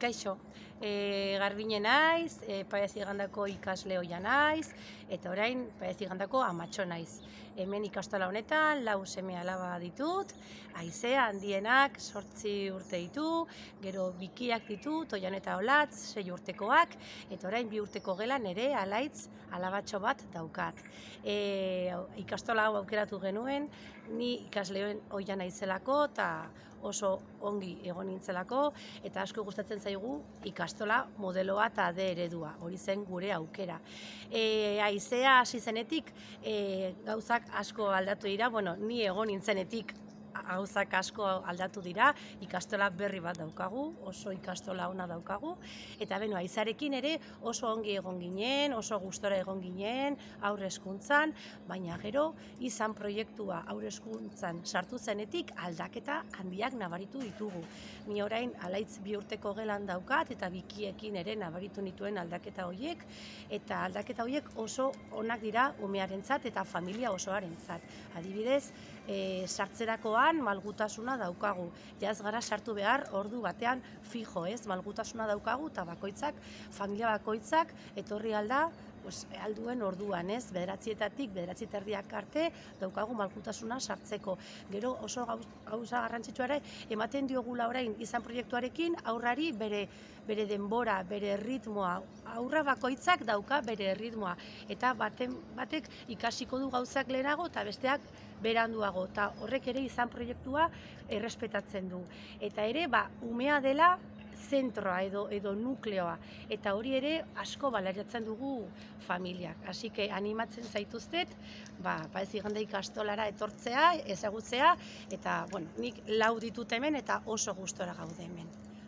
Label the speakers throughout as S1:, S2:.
S1: Kaixo, Garbine naiz, Paez Igandako ikasle ohia naiz, eta orain Paez Igandako amatxo naiz. Hemen ikastola honetan, 4 seme alaba ditut, Aizea handienak 8 urte ditu, gero bikiak ditut, Oian eta Olatz, 6 urtekoak, eta orain 2 urteko gelan ere alaitz alabatxo bat daukat. Ikastola hau aukeratu genuen, ni ikasle ohia naizelako, eta oso ongi egon nintzelako, eta asko gustatzen zaigu ikastola modeloa eta D eredua, hori zen gure aukera. Aizea hasi zenetik gauzak asko aldatu dira, ni egon nintzenetik gauzak asko aldatu dira, ikastola berri bat daukagu, oso ikastola ona daukagu, eta Aizarekin ere oso ongi egon ginen, oso gustora egon ginen, haur hezkuntzan, baina gero izan proiektua haur hezkuntzan sartu zenetik aldaketa handiak nabaritu ditugu. Ni orain alaitz 2 urteko gelan daukat, eta bikiekin ere nabaritu nituen aldaketa horiek, eta aldaketa horiek oso onak dira umearentzat eta familia osoarentzat. Adibidez, sartzerakoan malgutasuna daukagu. Ja ez gara sartu behar ordu batean fijo, malgutasuna daukagu, eta familia bakoitzak etorri alda alduen orduan, 9:00-etatik 9:30 arte daukagu malgutasuna sartzeko. Gero oso gauza garrantzitsua ere ematen diogula orain izan proiektuarekin aurrari bere denbora, bere ritmoa, aurra bakoitzak dauka bere ritmoa, eta batek ikasiko du gauzak lehenago eta besteak beranduago, eta horrek ere izan proiektua errespetatzen du. Eta ere, umea dela zentroa edo nukleoa, eta hori ere asko balaratzen dugu familiak. Así que animatzen zaituztet, Paez Igande ikastolara etortzea, ezagutzea, eta nik 4 ditut hemen eta oso gustora gaude hemen.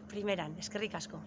S1: Primeran, eskerrik asko.